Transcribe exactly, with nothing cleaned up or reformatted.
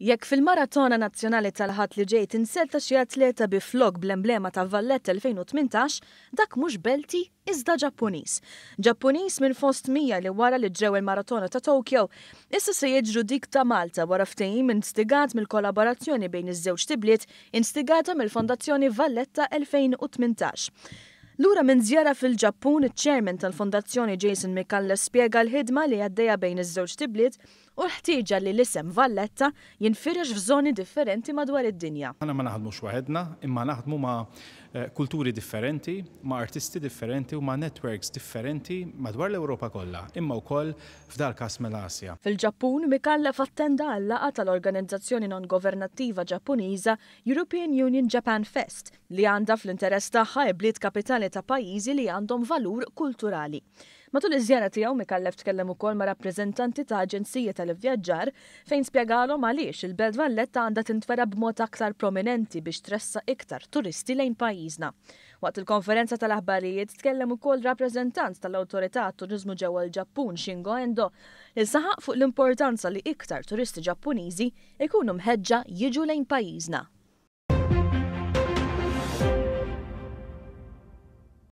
Jekk fil-Maratona Nazzjonali tal-Ħadd li ġej tinzerta xi atleta bi flok bl-emblema ta' Valletta elfejn u tmintax, dak mhux Belti iżda Ġappuniż. Ġappuniż minn fost mija li wara li ġrew il-Maratona ta' Tokyo, issa se jiġru dik ta' Malta wara ftehim instigat mill-kollaborazzjoni bejn iż-żewġt ibliet instigata mill-Fondazzjoni Valletta elfejn u tmintax. Lura minn żjara fil-Ġappun, iċ-chairman tal-Fondazzjoni Jason Micallef spjega l-ħidma li għaddejja bejn iż-żewġt ibliet u l-ħtieġa li l-isem Valletta jinfirex f'żoni differenti madwar id-dinja. Aħna ma naħdmux waħedna, imma naħdmu ma' eh, kulturi differenti, ma' artisti differenti u ma' networks differenti madwar l-Ewropa kollha, imma wkoll f'dal każ mill-Asja. Fil-Ġappun, Micallef attenda għal laqgħa tal-organizzazzjoni non-governattiva Ġappuniża European Union Japan Fest li għandha fl-interess tagħha bliet kapitali ta' pajjiżi li għandhom valur kulturali. Matul iż-żjara tiegħu, Micallef tkellem ukoll ma' rappreżentanti ta' aġenzija tal-ivvjaġġar fejn spjegalhom għaliex il-Belt Valletta għandha tintwera b'mod aktar prominenti biex tressaq iktar turisti lejn pajjiżna. Waqt il-konferenza tal-aħbarijiet tkellem ukoll rappreżentant tal-Awtorità Turiżmu ġewwa l-Ġappun, Shingo Endo, li saħaq fuq l-importanza li iktar turisti Ġappuniżi ikunu mħeġġa jiġu lejn pajjiżna.